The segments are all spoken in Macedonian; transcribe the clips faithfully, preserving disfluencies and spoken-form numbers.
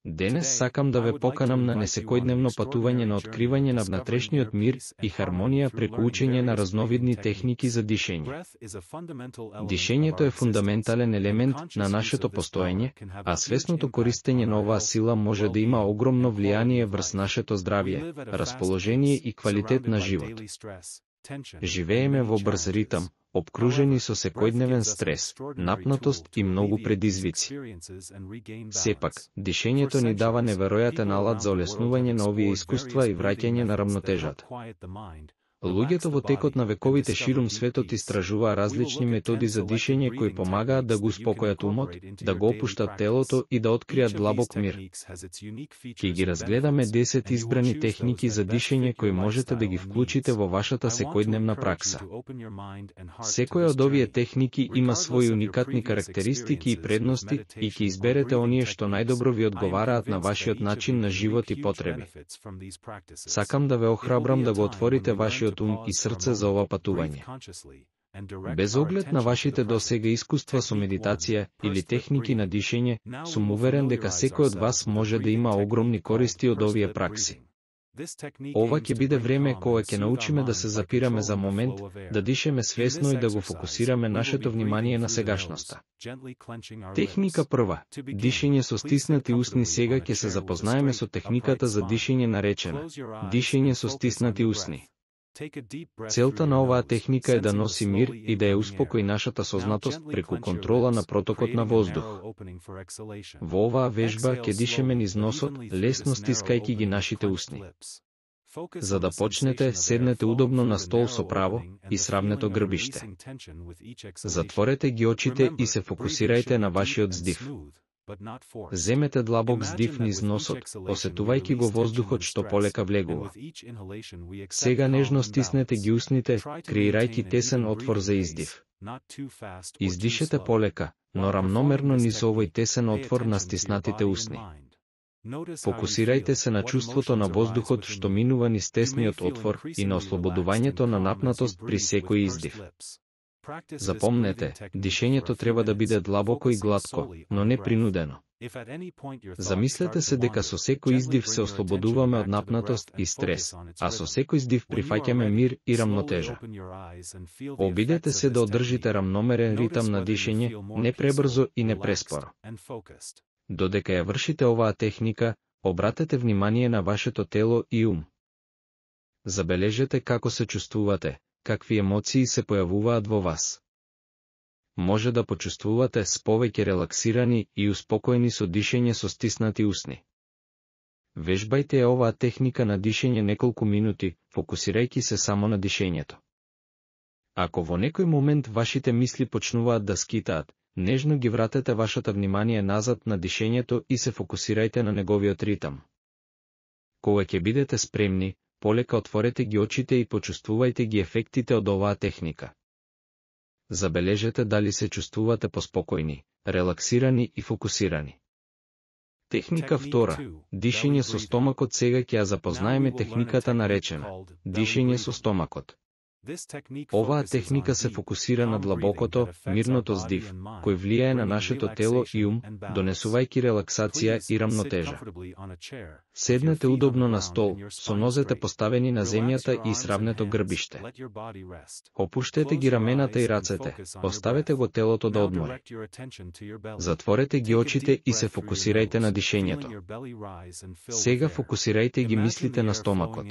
Денес сакам да ве поканам на несекојдневно патување на откривање на внатрешниот мир и хармонија преку учење на разновидни техники за дишење. Дишењето е фундаментален елемент на нашето постоење, а свесното користење на оваа сила може да има огромно влијание врз нашето здравје, расположение и квалитет на живот. Живееме во брз ритам, обкружени со секојдневен стрес, напнатост и многу предизвици. Сепак, дишењето ни дава неверојатен алат за олеснување на овие искуства и враќање на рамнотежата. Луѓето во текот на вековите ширум светот истражуваа различни методи за дишење кои помагаат да го успокојат умот, да го опуштат телото и да откријат длабок мир. Ќе ги разгледаме десет избрани техники за дишење кои можете да ги вклучите во вашата секојдневна пракса. Секоја од овие техники има своји уникатни карактеристики и предности и ќе изберете оние што најдобро ви одговараат на вашиот начин на живот и потреби. Сакам да ве охрабрам да го отворите вашиот ум и срце за ова патување. Без оглед на вашите досега искуства со медитација или техники на дишење, сум уверен дека секој од вас може да има огромни користи од овие пракси. Ова ќе биде време кога ќе научиме да се запираме за момент, да дишеме свесно и да го фокусираме нашето внимание на сегашноста. Техника прва. Дишење со стиснати усни. Сега ќе се запознаеме со техниката за дишење наречена дишење со стиснати усни. Целта на оваа техника е да носи мир и да ја успокои нашата сознатост преку контрола на протокот на воздух. Во оваа вежба ќе дишеме низ носот, лесно стискајќи ги нашите усни. За да почнете, седнете удобно на стол со право и сравнето грбиште. Затворете ги очите и се фокусирајте на вашиот здив. Земете длабок здив низ носот, осетувајќи го воздухот што полека влегува. Сега нежно стиснете ги усните, креирајќи тесен отвор за издив. Издишете полека, но рамномерно низ овој тесен отвор на стиснатите усни. Фокусирајте се на чувството на воздухот што минува низ тесниот отвор и на ослободувањето на напнатост при секој издив. Запомнете, дишењето треба да биде длабоко и глатко, но не принудено. Замислете се дека со секој издив се ослободуваме од напнатост и стрес, а со секој издив прифаќаме мир и рамнотежа. Обидете се да одржите рамномерен ритам на дишење, не пребрзо и не преспоро. Додека ја вршите оваа техника, обратете внимание на вашето тело и ум. Забележете како се чувствувате, какви емоции се појавуваат во вас. Може да почувствувате с повеќе релаксирани и успокоени со дишење со стиснати усни. Вежбајте ја оваа техника на дишење неколку минути, фокусирајќи се само на дишењето. Ако во некој момент вашите мисли почнуваат да скитаат, нежно ги вратете вашата внимание назад на дишењето и се фокусирајте на неговиот ритам. Кога ќе бидете спремни, полека отворете ги очите и почувствувајте ги ефектите од оваа техника. Забележете дали се чувствувате поспокојни, релаксирани и фокусирани. Техника втора. Дишење со стомакот. Сега ќе ја запознаеме техниката наречена дишење со стомакот. Оваа техника се фокусира на длабокото, мирното здив, кој влијае на нашето тело и ум, донесувајќи релаксација и рамнотежа. Седнете удобно на стол, со нозете поставени на земјата и сравнето грбиште. Опуштете ги рамената и рацете, оставете го телото да одмори. Затворете ги очите и се фокусирајте на дишењето. Сега фокусирајте ги мислите на стомакот.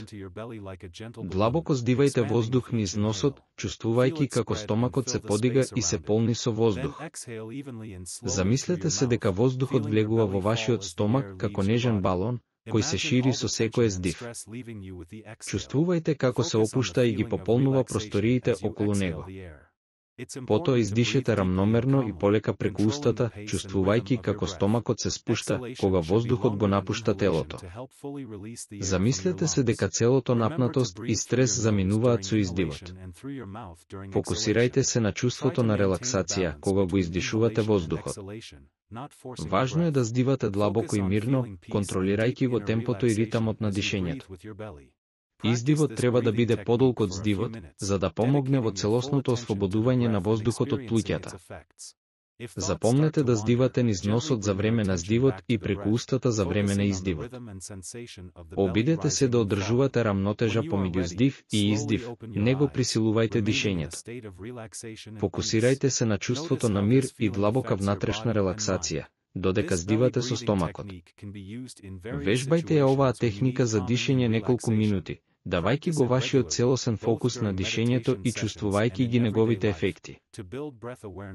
Длабоко здивајте воздух низ носот, чувствувајќи како стомакот се подига и се полни со воздух. Замислете се дека воздухот влегува во вашиот стомак како нежен балон, кој се шири со секој здив. Чувствувајте како се опушта и ги пополнува просториите околу него. Потоа издишете рамномерно и полека преку устата, чувствувајќи како стомакот се спушта кога воздухот го напушта телото. Замислете се дека целото напнатост и стрес заминуваат со издивот. Фокусирајте се на чувството на релаксација кога го издишувате воздухот. Важно е да здивате длабоко и мирно, контролирајќи го темпото и ритамот на дишењето. Издивот треба да биде подолг од здивот, за да помогне во целосното ослободување на воздухот од плуќата. Запомнете да здивате низ носот за време на здивот и преку устата за време на издивот. Обидете се да одржувате рамнотежа помеѓу здив и издив, не го присилувајте дишењето. Фокусирајте се на чувството на мир и длабока внатрешна релаксација, додека здивате со стомакот. Вежбајте ја оваа техника за дишење неколку минути, давајќи го вашиот целосен фокус на дишењето и чувствувајќи ги неговите ефекти.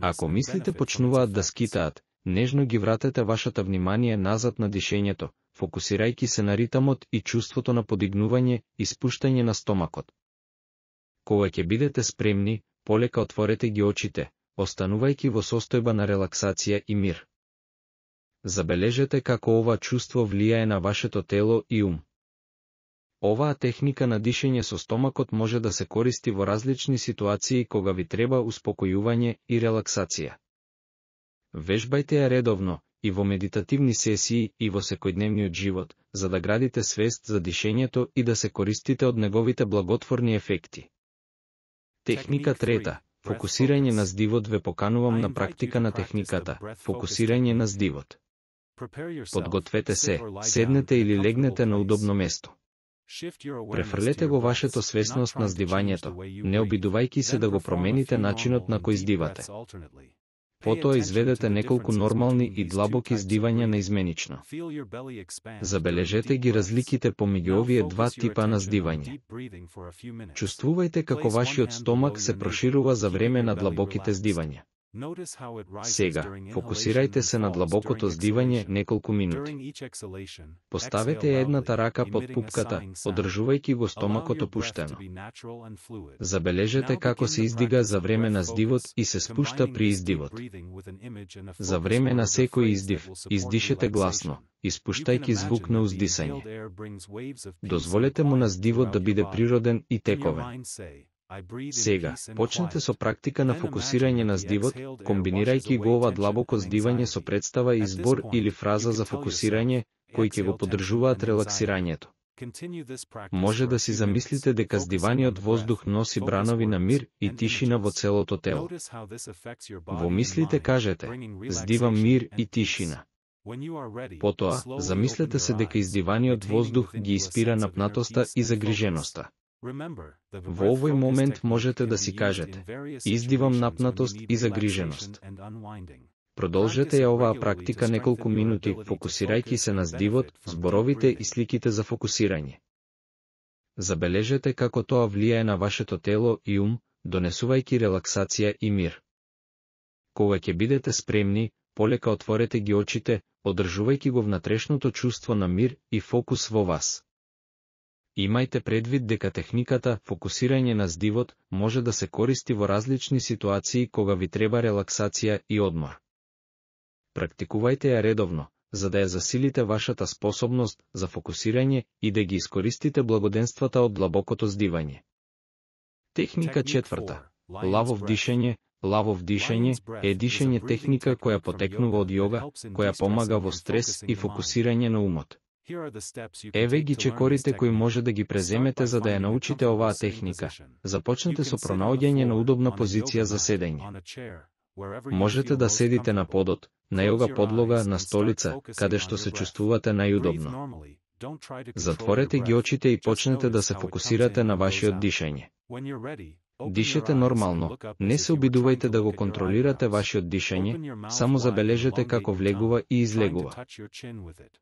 Ако мислите почнуваат да скитаат, нежно ги вратете вашата внимание назад на дишењето, фокусирајќи се на ритамот и чувството на подигнување и спуштање на стомакот. Кога ќе бидете спремни, полека отворете ги очите, останувајќи во состојба на релаксација и мир. Забележете како ова чувство влијае на вашето тело и ум. Оваа техника на дишење со стомакот може да се користи во различни ситуации кога ви треба успокојување и релаксација. Вежбајте ја редовно, и во медитативни сесии и во секојдневниот живот, за да градите свест за дишењето и да се користите од неговите благотворни ефекти. Техника трета. Фокусирање на здивот. Ве поканувам на практика на техниката фокусирање на здивот. Подгответе се, седнете или легнете на удобно место. Префрлете го вашето свесност на здивањето, не обидувајќи се да го промените начинот на кој здивате. Потоа изведете неколку нормални и длабоки здивања наизменично. Забележете ги разликите помеѓу овие два типа на здивање. Чувствувајте како вашиот стомак се проширува за време на длабоките здивања. Сега, фокусирајте се на длабокото здивање неколку минути. Поставете едната рака под пупката, одржувајќи го стомакот опуштено. Забележете како се издига за време на здивот и се спушта при издивот. За време на секој издив, издишете гласно, испуштајќи звук на уздисање. Дозволете му на здивот да биде природен и тековен. Сега, почнете со практика на фокусирање на здивот, комбинирајќи го ова длабоко здивање со представа и збор или фраза за фокусирање, кои ќе го поддржуваат релаксирањето. Може да си замислите дека здиваниот воздух носи бранови на мир и тишина во целото тело. Во мислите кажете, здивам мир и тишина. Потоа, замислете се дека издиваниот воздух ги испира напнатоста и загриженоста. Во овој момент можете да си кажете, издивам напнатост и загриженост. Продолжете ја оваа практика неколку минути, фокусирајќи се на здивот, зборовите и сликите за фокусирање. Забележете како тоа влијае на вашето тело и ум, донесувајќи релаксација и мир. Кога ќе бидете спремни, полека отворете ги очите, одржувајќи го внатрешното чувство на мир и фокус во вас. Имајте предвид дека техниката фокусирање на здивот може да се користи во различни ситуации кога ви треба релаксација и одмор. Практикувајте ја редовно, за да ја засилите вашата способност за фокусирање и да ги искористите благоденствата од длабокото здивање. Техника четврта. Лавов дишење. Лавов дишење е дишење техника која потекнува од јога, која помага во стрес и фокусирање на умот. Еве ги чекорите кои може да ги преземете за да ја научите оваа техника. Започнете со пронаоѓање на удобна позиција за седење. Можете да седите на подот, на јога подлога, на столица, каде што се чувствувате најудобно. Затворете ги очите и почнете да се фокусирате на вашиот дишење. Дишете нормално, не се обидувајте да го контролирате вашиот дишење, само забележете како влегува и излегува.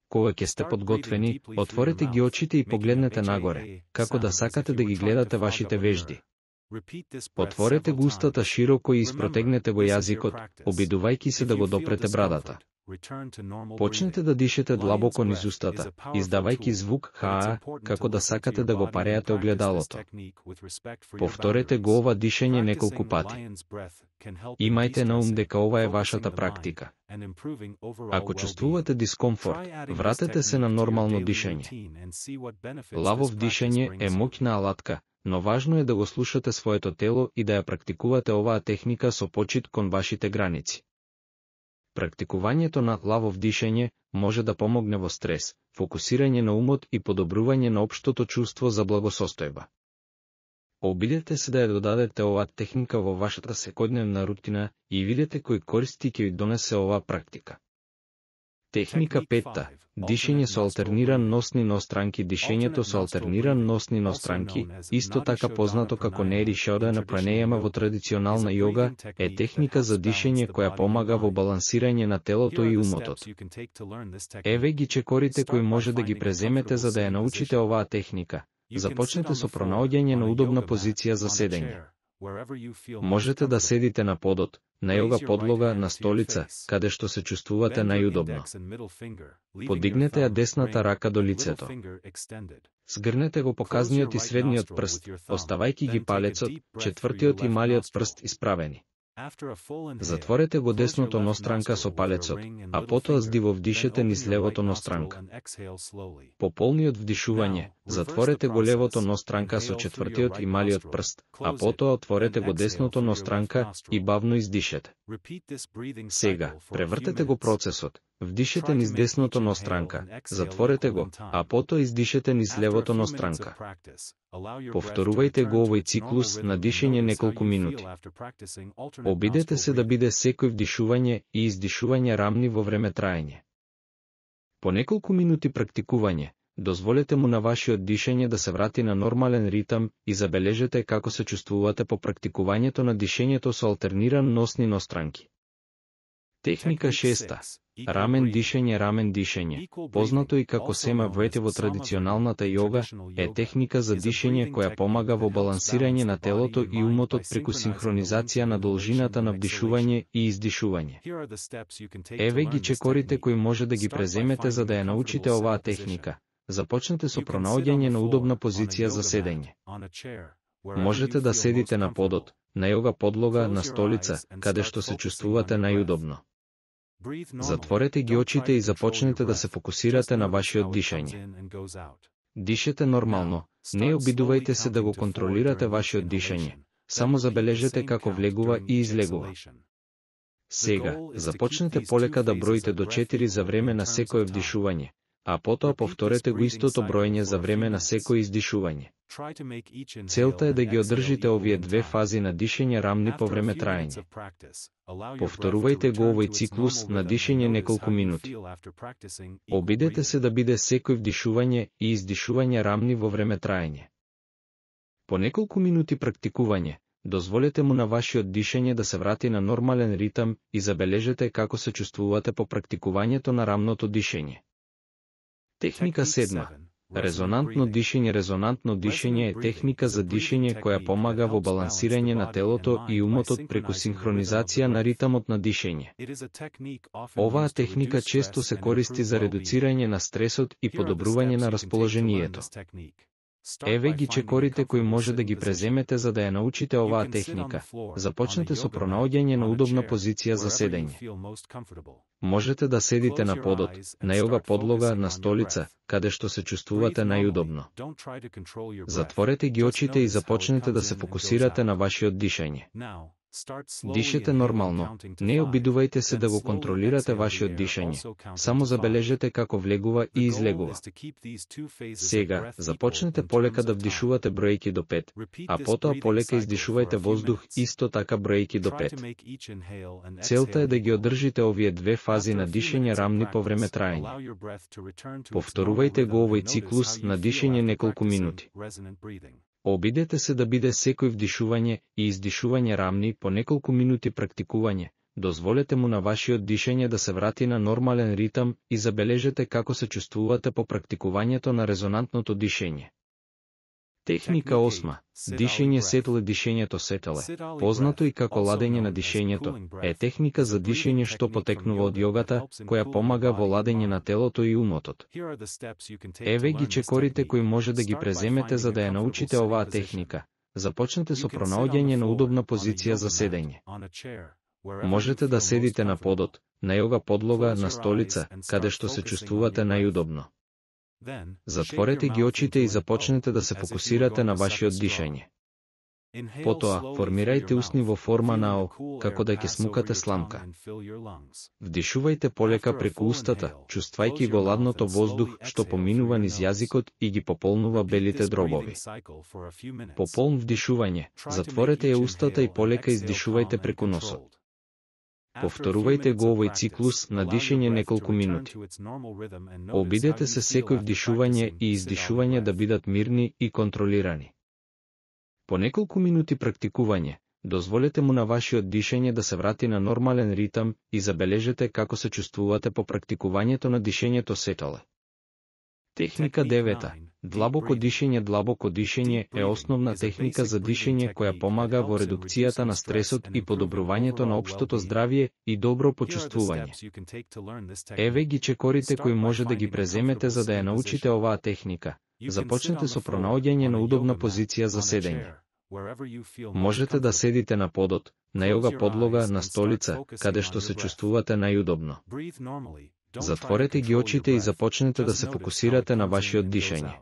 Кога ќе сте подготвени, отворете ги очите и погледнете нагоре, како да сакате да ги гледате вашите вежди. Отворете го устата широко и испротегнете го јазикот, обидувајќи се да го допрете брадата. Почнете да дишете длабоко низ устата, издавајќи звук хаа, како да сакате да го пареате огледалото. Повторете го ова дишење неколку пати. Имајте на ум дека ова е вашата практика. Ако чувствувате дискомфорт, вратете се на нормално дишење. Лавов дишење е моќна алатка, но важно е да го слушате своето тело и да ја практикувате оваа техника со почит кон вашите граници. Практикувањето на лавов дишење може да помогне во стрес, фокусирање на умот и подобрување на општото чувство за благосостојба. Обидете се да ја додадете оваа техника во вашата секојдневна рутина и видете кои користи ќе ви донесе оваа практика. Техника петта. Дишење со алтерниран нос низ странки. Дишењето со алтерниран нос низ странки, исто така познато како Нери Шодана пранејама во традиционална јога, е техника за дишење која помага во балансирање на телото и умотот. Еве ги чекорите кои може да ги преземете за да ја научите оваа техника. Започнете со пронаоѓање на удобна позиција за седење. Можете да седите на подот, на јога подлога, на столица, каде што се чувствувате најудобно. Подигнете ја десната рака до лицето. Сгрнете го показниот и средниот прст, оставајќи ги палецот, четвртиот и малиот прст исправени. Затворете го десното ностранка со палецот, а потоа здиво вдишете низ левото ностранка. По полниот вдишување, затворете го левото ностранка со четвртиот и малиот прст, а потоа отворете го десното ностранка и бавно издишете. Сега, превртете го процесот. Вдишете низ десното ностранка, затворете го, а потоа издишете низ левото ностранка. Повторувајте го овој циклус на дишење неколку минути. Обидете се да биде секој вдишување и издишување рамни во време траење. По неколку минути практикување, дозволете му на вашиот дишење да се врати на нормален ритам и забележете како се чувствувате по практикувањето на дишењето со алтерниран нос низ странки. Техника шеста. Рамен дишење. Рамен дишење, познато и како сема вете во традиционалната јога, е техника за дишење која помага во балансирање на телото и умотот преку синхронизација на должината на вдишување и издишување. Еве ги чекорите кои може да ги преземете за да ја научите оваа техника. Започнете со пронаоѓање на удобна позиција за седење. Можете да седите на подот, на јога подлога, на столица, каде што се чувствувате најудобно. Затворете ги очите и започнете да се фокусирате на вашиот дишење. Дишете нормално, не обидувајте се да го контролирате вашиот дишење, само забележете како влегува и излегува. Сега, започнете полека да броите до четири за време на секое вдишување, а потоа повторете го истото броење за време на секое издишување. Целта е да ги одржите овие две фази на дишење рамни по време траење. Повторувајте го овој циклус на дишење неколку минути. Обидете се да биде секој вдишување и издишување рамни во време траење. По неколку минути практикување, дозволете му на вашиот дишење да се врати на нормален ритам и забележете како се чувствувате по практикувањето на рамното дишење. Техника седма. Резонантно дишење. Резонантно дишење е техника за дишење која помага во балансирање на телото и умотот преку синхронизација на ритамот на дишење. Оваа техника често се користи за редуцирање на стресот и подобрување на расположението. Еве ги чекорите кои може да ги преземете за да ја научите оваа техника. Започнете со пронаоѓање на удобна позиција за седење. Можете да седите на подот, на јога подлога, на столица, каде што се чувствувате најудобно. Затворете ги очите и започнете да се фокусирате на вашиот дишење. Дишете нормално, не обидувајте се да го контролирате вашиот дишење, само забележете како влегува и излегува. Сега, започнете полека да вдишувате броејки до пет, а потоа полека издишувајте воздух исто така броејки до пет. Целта е да ги одржите овие две фази на дишење рамни по време траење. Повторувајте го овој циклус на дишење неколку минути. Обидете се да биде секој вдишување и издишување рамни по неколку минути практикување. Дозволете му на вашиот дишење да се врати на нормален ритам и забележете како се чувствувате по практикувањето на резонантното дишење. Техника осма. Дишење сетеле. Дишењето сетеле, познато и како ладење на дишењето, е техника за дишење што потекнува од јогата, која помага во ладење на телото и умотот. Еве ги чекорите кои може да ги преземете за да ја научите оваа техника. Започнете со пронаоѓање на удобна позиција за седење. Можете да седите на подот, на јога подлога, на столица, каде што се чувствувате најудобно. Затворете ги очите и започнете да се фокусирате на вашиот дишење. Потоа, формирајте усни во форма на О, како да ќе смукате сламка. Вдишувајте полека преку устата, чувствајќи го ладното воздух што поминува низ јазикот и ги пополнува белите дробови. По полн вдишување, затворете ја устата и полека издишувајте преку носот. Повторувајте го овој циклус на дишење неколку минути. Обидете се секој вдишување и издишување да бидат мирни и контролирани. По неколку минути практикување, дозволете му на вашиот дишење да се врати на нормален ритам и забележете како се чувствувате по практикувањето на дишењето сетале. Техника девета. Длабоко дишење. Длабоко дишење е основна техника за дишење која помага во редукцијата на стресот и подобрувањето на општото здравје и добро почувствување. Еве ги чекорите кои може да ги преземете за да ја научите оваа техника. Започнете со пронаоѓање на удобна позиција за седење. Можете да седите на подот, на јога подлога, на столица, каде што се чувствувате најудобно. Затворете ги очите и започнете да се фокусирате на вашиот дишење.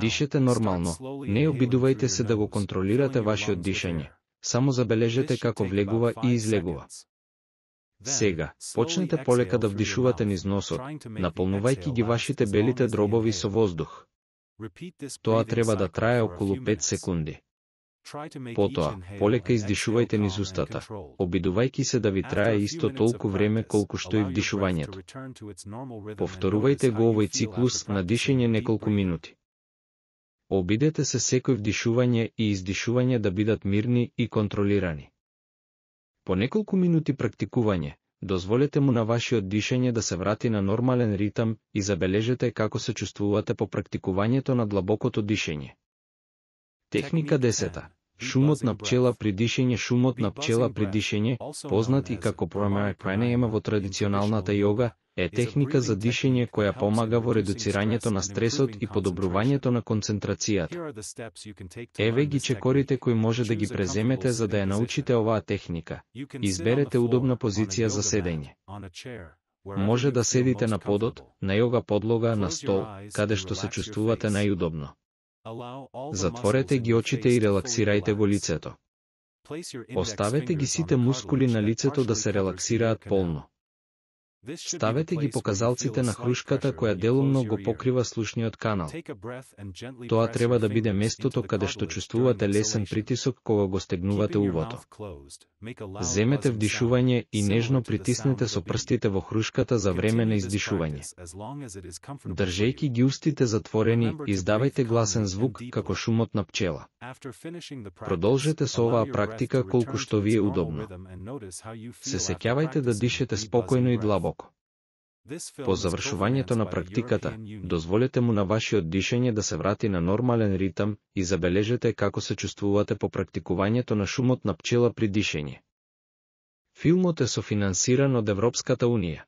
Дишете нормално, не обидувајте се да го контролирате вашиот дишење, само забележете како влегува и излегува. Сега, почнете полека да вдишувате низ носот, наполнувајќи ги вашите белите дробови со воздух. Тоа треба да трае околу пет секунди. Потоа, полека издишувајте низ устата, обидувајќи се да ви трае исто толку време колку што и вдишувањето. Повторувајте го овој циклус на дишење неколку минути. Обидете се секој вдишување и издишување да бидат мирни и контролирани. По неколку минути практикување, дозволете му на вашиот дишење да се врати на нормален ритам и забележете како се чувствувате по практикувањето на длабокото дишење. Техника десета. Шумот на пчела при дишење. Шумот на пчела при дишење, познат и како primary pranayama во традиционалната јога, е техника за дишење која помага во редуцирањето на стресот и подобрувањето на концентрацијата. Еве ги чекорите кои може да ги преземете за да ја научите оваа техника. Изберете удобна позиција за седење. Може да седите на подот, на јога подлога, на стол, каде што се чувствувате најудобно. Затворете ги очите и релаксирајте го лицето. Оставете ги сите мускули на лицето да се релаксираат полно. Ставете ги показалците на хрушката која делумно го покрива слушниот канал. Тоа треба да биде местото каде што чувствувате лесен притисок кога го стегнувате увото. Земете вдишување и нежно притиснете со прстите во хрушката за време на издишување. Држејќи ги устите затворени, издавајте гласен звук како шумот на пчела. Продолжете со оваа практика колку што ви е удобно. Се сеќавајте да дишете спокојно и длабоко. По завршувањето на практиката, дозволете му на вашиот дишење да се врати на нормален ритам и забележете како се чувствувате по практикувањето на шумот на пчела при дишење. Филмот е софинансиран од Европската унија.